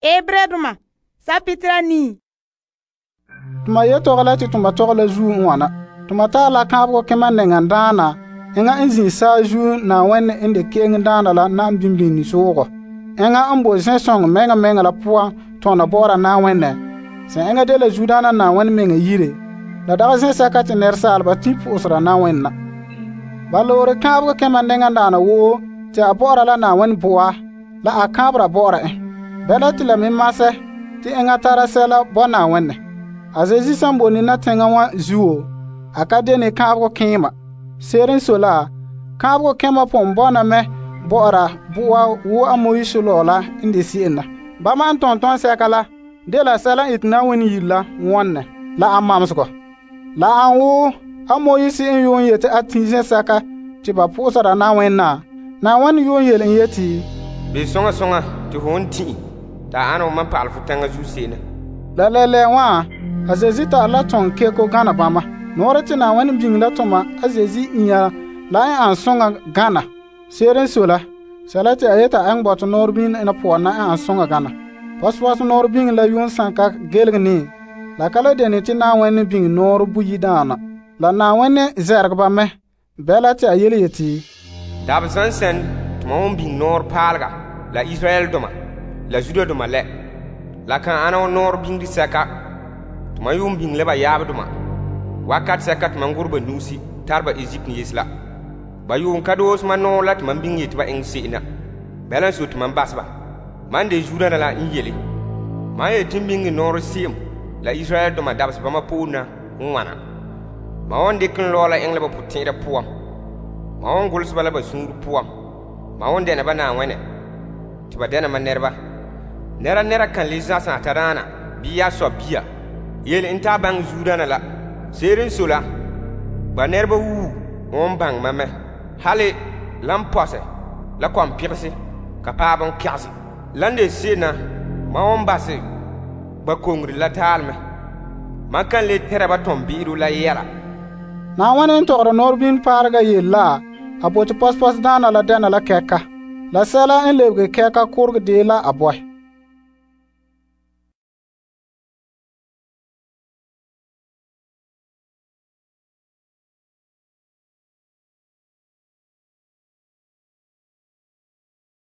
Ebredoma sapitira 9. Tuma yetɔgɔ la te tuma tɔgɔ la zuo n wana. Tuma taa la kaanbegɔ kema nɛŋadaana enŋa n zin saazuo Na'ayenɛ n de ke'enŋdaana la na'am bimbini soogɔ. Enŋa n bo zen'sɔŋɔ mɛŋa mɛŋa la poan tɔna bɔ'ɔra Na'ayenɛ. Sẽn enŋa dela Zuodaana Na'ayenɛ meŋa yire. La dagɛ zen'sɛka te nɛresaaleba tin po'osera Na'ayenɛ na. Ba loore kaanbegɔ kema nɛŋadaana woo te a bɔ'ɔra la Na'ayenɛ po'a la a kaanbera bɔ'ɔra en. Bɛla te la me masɛ te enŋa tara sɛla bo Na'ayenɛ. A Zeezi san boe nina teŋa wa zuo, a ka dene kaanbegɔ keema. Se'ere n sɔe la, kaanbegɔ kema pon bɔna mɛ bɔ'ɔra bo'a wo a Moise la n de se'em na. Bama n tɔntɔnsɛka la dela sɛla n ete Na'ayenɛ yire la wɔnɛ la a mamsegɔ. La an wo a Moise n yuun yete a tin zen'sɛka te ba po'osera Na'ayenɛ na. Na'ayenɛ yuun yele en yeti, Be soŋa soŋa te hon tɩ ta ana wo man pa'al fo tɛŋa zuo se'em na. La lɛlɛ wã, a Zeezi tare la tɔŋ keko gana bama. Nɔɔrɛ te Na'ayenɛ biŋe la toma a Zeezi inya la n an soŋa gana. Se'ere n sɔe la, sɛla te a yeta a eŋɛ bɔtɔ nɔɔrɛ biŋe na poan na n an soŋa gana. Pɔsepɔsɛ nɔɔrɛ biŋe la yuun sanka gelege ne. La ka la dene te Na'ayenɛ biŋe nɔɔrɛ buyi daana. La Na'ayenɛ zɛrɛgɛ ba mɛ. Bɛla te a yele yeti, Dab zãn sɛn tɩma hon biŋ nɔɔrɛ paalega la Israɛldoma la Judadoma lɛ. La kan ana wo nɔɔrɛ biŋde sɛka tɩma yuun biŋ la ba yaabdoma. Wakat sɛka tɩma gʋrɛ ba nuusi tar ba Egypt yes la. Ba yuun ka doos ma nɔɔrɛ la tɩma biŋ yeti ba eŋɛ se'em na. Bɛla n so tɩma bas ba. Man de Judana la n yele. Man yeti biŋe nɔɔrɛ se'em la Israɛldoma dabs bama poorẽ na n wana. Ma wan dɩk n lɔɔ la eŋɛ la ba pʋtẽ'era poan. Ma wan golse ba la ba sũurẽ poan. Ma wan dɛna ba Na'ayenɛ tɩ ba dɛna ma nɛreba. Nɛra kan le zãsã a tadaana bii yaa sɔ bia yele n taa baŋɛ Zuodaana la. Se'ere n sɔe la, ba nɛreba wuu wan baŋɛ ma mɛ. Hali lan pɔsɛ la kɔm pɩgse ka paɛ bon kɛgse. Lan de se'em na, ma wan basɛ ba kongre la taalmɛ. Man kan le tɛra ba tɔm-bi'iro la yɛla. Na'ayenɛ n tɔgɔra nɔɔrebin paarega yele la a bote pɔsepɔsdaana la dɛna la kɛka. La sɛla n lebege kɛka korege dee la a bɔɛ.